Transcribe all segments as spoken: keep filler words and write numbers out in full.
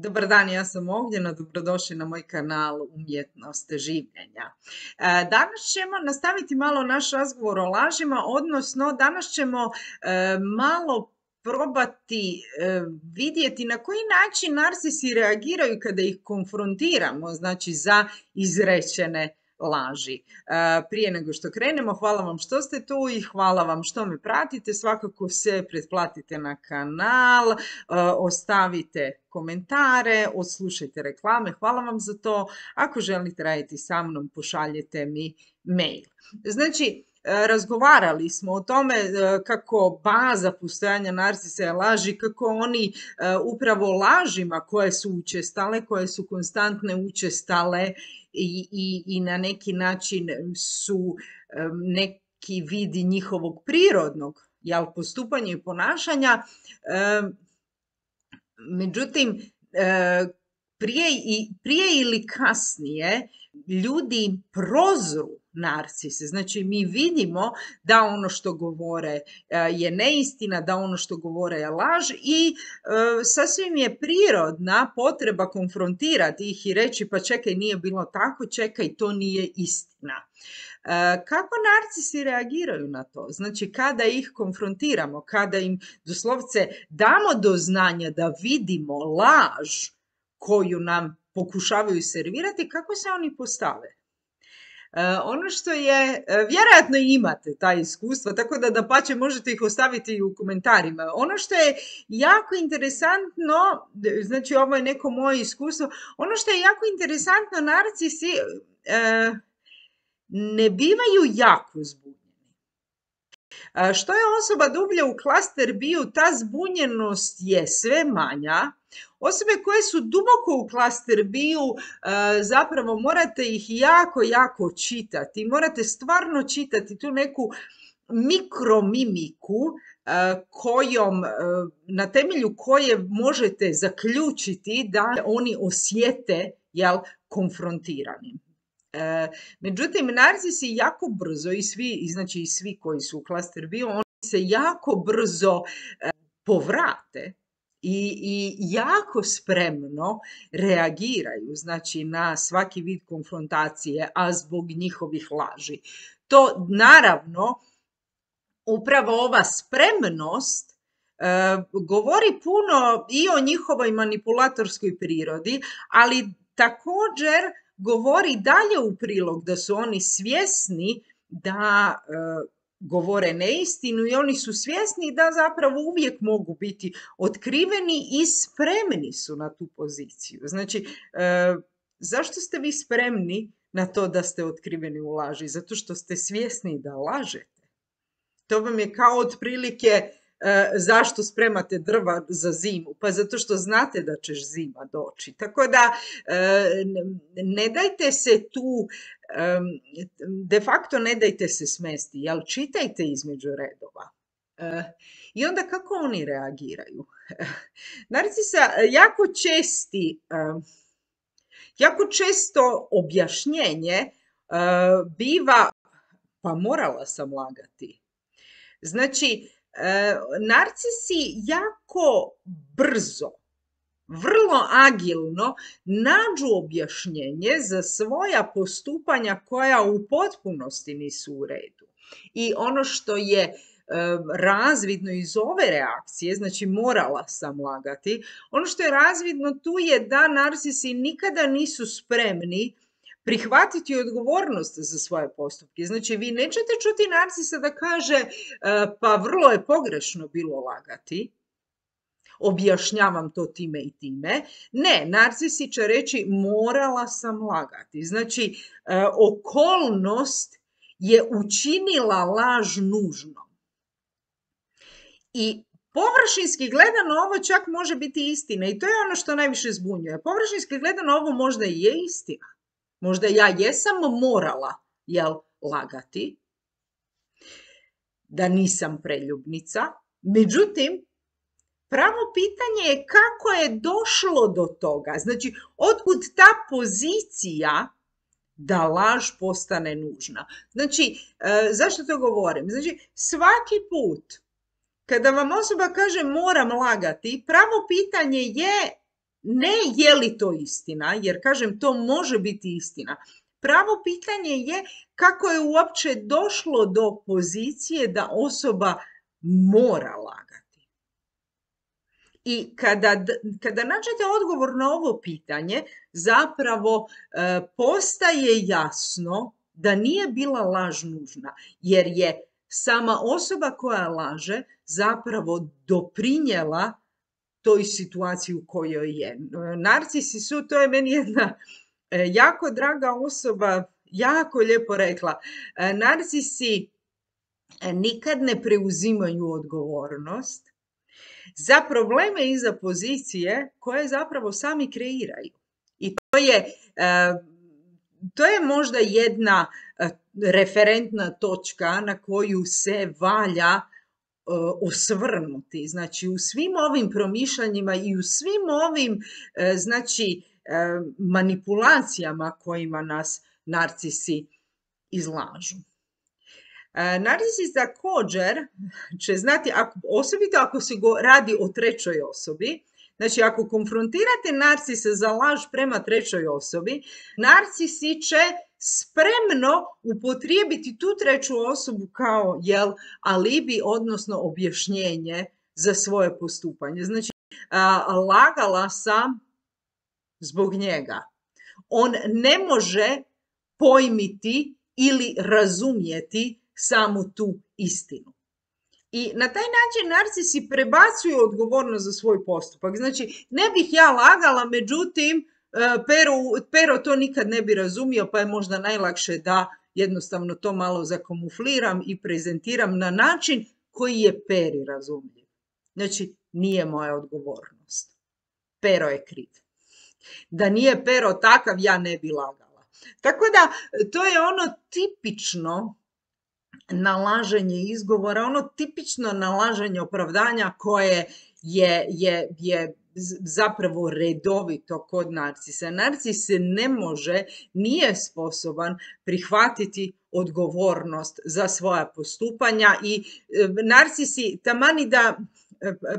Dobar dan, ja sam Ognjena, dobrodošli na moj kanal Umjetnost življenja. E, Danas ćemo nastaviti malo naš razgovor o lažima, odnosno danas ćemo e, malo probati e, vidjeti na koji način narcisi reagiraju kada ih konfrontiramo, znači za izrečene laži. E, Prije nego što krenemo, hvala vam što ste tu i hvala vam što me pratite. Svakako se pretplatite na kanal, e, ostavite komentare, odslušajte reklame, hvala vam za to. Ako želite raditi sa mnom, pošaljite mi mail. Znači, razgovarali smo o tome kako baza postojanja narcisa je laži, kako oni upravo lažima koje su učestale, koje su konstantne, učestale i, i, i na neki način su neki vidi njihovog prirodnog, jel, postupanja i ponašanja. Međutim, prije, i, prije ili kasnije ljudi prozru narcise. Znači, mi vidimo da ono što govore je neistina, da ono što govore je laž i e, sasvim je prirodna potreba konfrontirati ih i reći pa čekaj, nije bilo tako, čekaj, to nije istina. E, kako narcisi reagiraju na to? Znači, kada ih konfrontiramo, kada im doslovce damo do znanja da vidimo laž koju nam pokušavaju servirati, kako se oni postave? Uh, ono što je, uh, vjerojatno imate ta iskustva, tako da dapače možete ih ostaviti i u komentarima. Ono što je jako interesantno, znači ovo je neko moje iskustvo, ono što je jako interesantno, narcisi uh, ne bivaju jako zbunjeni. Uh, što je osoba dublje u klaster bio, ta zbunjenost je sve manja. Osobe koje su duboko u klaster bio, zapravo morate ih jako, jako čitati. Morate stvarno čitati tu neku mikromimiku kojom, na temelju koje možete zaključiti da oni osjete, jel, konfrontirani. Međutim, narcisi jako brzo i svi, znači i svi koji su u klaster bio, oni se jako brzo povrate. I, i jako spremno reagiraju, znači, na svaki vid konfrontacije, a zbog njihovih laži. To naravno, upravo ova spremnost e, govori puno i o njihovoj manipulatorskoj prirodi, ali također govori dalje u prilog da su oni svjesni da e, govore neistinu i oni su svjesni da zapravo uvijek mogu biti otkriveni i spremni su na tu poziciju. Znači, e, zašto ste vi spremni na to da ste otkriveni u laži? Zato što ste svjesni da lažete. To vam je kao otprilike e, zašto spremate drva za zimu? Pa zato što znate da će zima doći. Tako da e, ne dajte se tu, e, de facto ne dajte se smesti, jel, čitajte između redova. E, I onda kako oni reagiraju? Narcisa jako česti, e, jako često objašnjenje e, biva pa morala sam lagati. Znači, e, narcisi jako brzo, vrlo agilno nađu objašnjenje za svoja postupanja koja u potpunosti nisu u redu. I ono što je e, razvidno iz ove reakcije, znači morala sam lagati, ono što je razvidno tu je da narcisi nikada nisu spremni prihvatiti odgovornost za svoje postupke. Znači, vi nećete čuti narcisa da kaže pa vrlo je pogrešno bilo lagati, objašnjavam to time i time. Ne, narcisi će reći morala sam lagati. Znači, okolnost je učinila laž nužnom. I površinski gledano ovo čak može biti istina i to je ono što najviše zbunjuje. Površinski gledano ovo možda i je istina. Možda ja jesam morala, jel, lagati, da nisam preljubnica, međutim, pravo pitanje je kako je došlo do toga. Znači, otkud ta pozicija da laž postane nužna. Znači, e, zašto to govorim? Znači, svaki put kada vam osoba kaže moram lagati, pravo pitanje je ne je li to istina, jer kažem to može biti istina. Pravo pitanje je kako je uopće došlo do pozicije da osoba mora lagati. I kada, kada nađete odgovor na ovo pitanje, zapravo e, postaje jasno da nije bila laž nužna, jer je sama osoba koja laže zapravo doprinijela toj situaciji u kojoj je. Narcisi su, to je meni jedna jako draga osoba, jako lijepo rekla, narcisi nikad ne preuzimaju odgovornost za probleme i za pozicije koje zapravo sami kreiraju. I to je, to je možda jedna referentna točka na koju se valja osvrnuti. Znači, u svim ovim promišljanjima i u svim ovim, znači, manipulacijama kojima nas narcisi izlažu. Narcisi također će znati, ako, osobito ako se go radi o trećoj osobi, znači ako konfrontirate narcisa za laž prema trećoj osobi, narcisi će spremno upotrijebiti tu treću osobu kao jel, alibi, odnosno objašnjenje za svoje postupanje. Znači, a, lagala sam zbog njega. On ne može pojmiti ili razumjeti samu tu istinu. I na taj način narcisi prebacuju odgovornost za svoj postupak. Znači, ne bih ja lagala, međutim, Pero, Pero to nikad ne bi razumio, pa je možda najlakše da jednostavno to malo zakamufliram i prezentiram na način koji je Peri razumljiv. Znači, nije moja odgovornost. Pero je kriv. Da nije Pero takav, ja ne bi lagala. Tako da, to je ono tipično nalaženje izgovora, ono tipično nalaženje opravdanja koje je, je, je zapravo redovito kod narcisa. Narcis se ne može, nije sposoban prihvatiti odgovornost za svoja postupanja i narcisi, tamani da,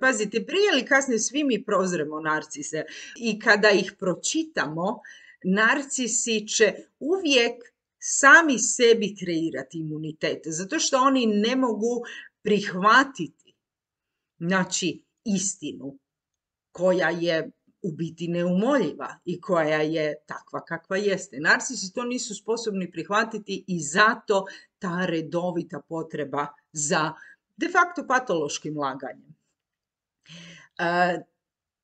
pazite, prije ili kasnije svi mi prozremo narcise i kada ih pročitamo, narcisi će uvijek sami sebi kreirati imunitet, zato što oni ne mogu prihvatiti, znači, istinu koja je u biti neumoljiva i koja je takva kakva jeste. Narcisi to nisu sposobni prihvatiti i zato ta redovita potreba za de facto patološkim laganjem. E,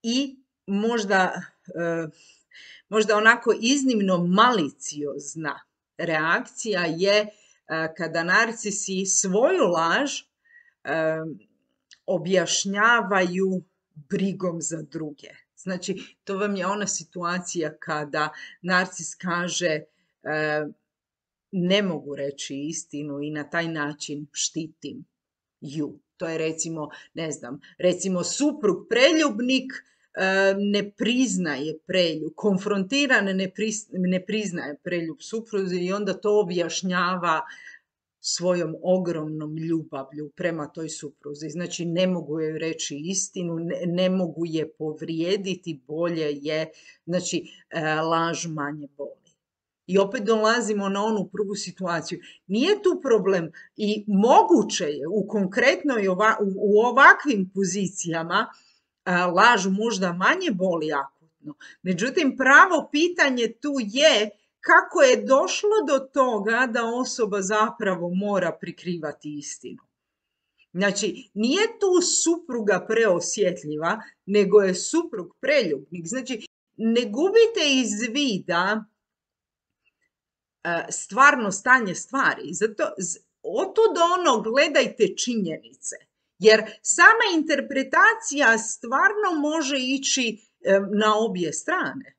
I možda, e, možda onako iznimno maliciozna reakcija je e, kada narcisi svoju laž e, objašnjavaju brigom za druge. Znači, to vam je ona situacija kada narcis kaže e, ne mogu reći istinu i na taj način štitim ju. To je recimo, ne znam, recimo suprug preljubnik e, ne priznaje preljub, konfrontiran ne, pris, ne priznaje preljub supruzi i onda to objašnjava svojom ogromnom ljubavlju prema toj supruzi. Znači, ne mogu joj reći istinu, ne, ne mogu je povrijediti, bolje je, znači, e, laž manje boli. I opet dolazimo na onu prvu situaciju. Nije tu problem i moguće je u konkretnoj, ova, u, u ovakvim pozicijama a, laž možda manje boli akutno. Međutim, pravo pitanje tu je kako je došlo do toga da osoba zapravo mora prikrivati istinu. Znači, nije tu supruga preosjetljiva, nego je suprug preljubnik. Znači, ne gubite iz vida stvarno stanje stvari. Zato otud ono gledajte činjenice. Jer sama interpretacija stvarno može ići na obje strane.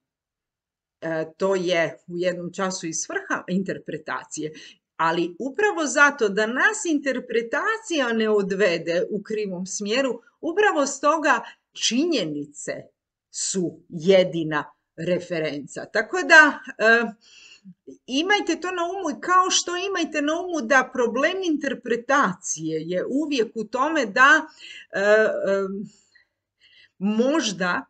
To je u jednom času i svrha interpretacije. Ali upravo zato da nas interpretacija ne odvede u krivom smjeru, upravo stoga činjenice su jedina referenca. Tako da e, imajte to na umu i kao što imajte na umu da problem interpretacije je uvijek u tome da e, e, možda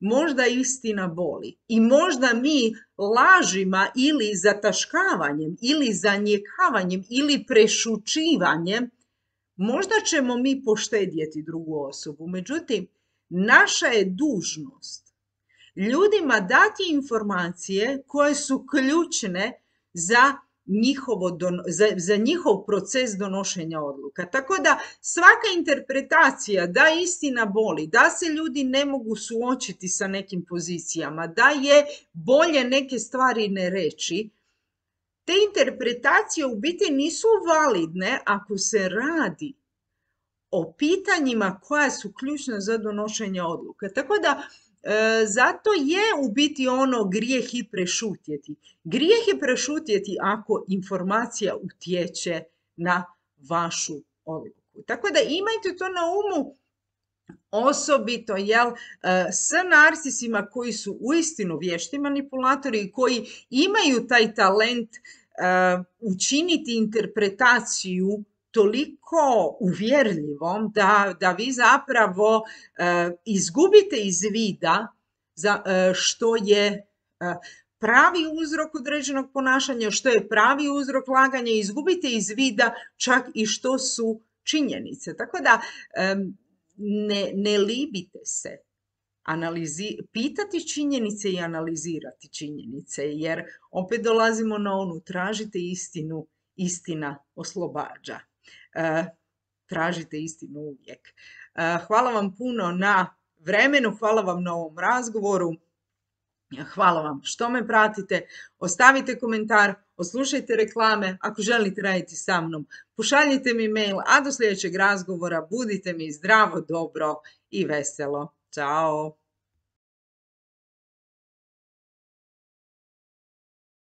možda istina boli. I možda mi lažima ili zataškavanjem ili zanijekavanjem ili prešućivanjem možda ćemo mi poštedjeti drugu osobu. Međutim, naša je dužnost ljudima dati informacije koje su ključne za njihovo don, za, za njihov proces donošenja odluka. Tako da svaka interpretacija da istina boli, da se ljudi ne mogu suočiti sa nekim pozicijama, da je bolje neke stvari ne reći, te interpretacije u biti nisu validne ako se radi o pitanjima koja su ključna za donošenje odluka. Tako da E, zato je u biti ono grijeh i prešutjeti. Grijeh je prešutjeti ako informacija utječe na vašu odluku. Tako da imajte to na umu, osobito jel, s narcisima koji su uistinu vješti manipulatori i koji imaju taj talent uh, učiniti interpretaciju toliko uvjerljivom da, da vi zapravo uh, izgubite iz vida za, uh, što je uh, pravi uzrok određenog ponašanja, što je pravi uzrok laganja, izgubite iz vida čak i što su činjenice. Tako da um, ne, ne libite se analizi, pitati činjenice i analizirati činjenice, jer opet dolazimo na onu tražite istinu, istina oslobađa. Uh, tražite istinu uvijek. Uh, hvala vam puno na vremenu, hvala vam na ovom razgovoru, hvala vam što me pratite, ostavite komentar, oslušajte reklame, ako želite raditi sa mnom, pošaljite mi mail, a do sljedećeg razgovora budite mi zdravo, dobro i veselo. Ćao!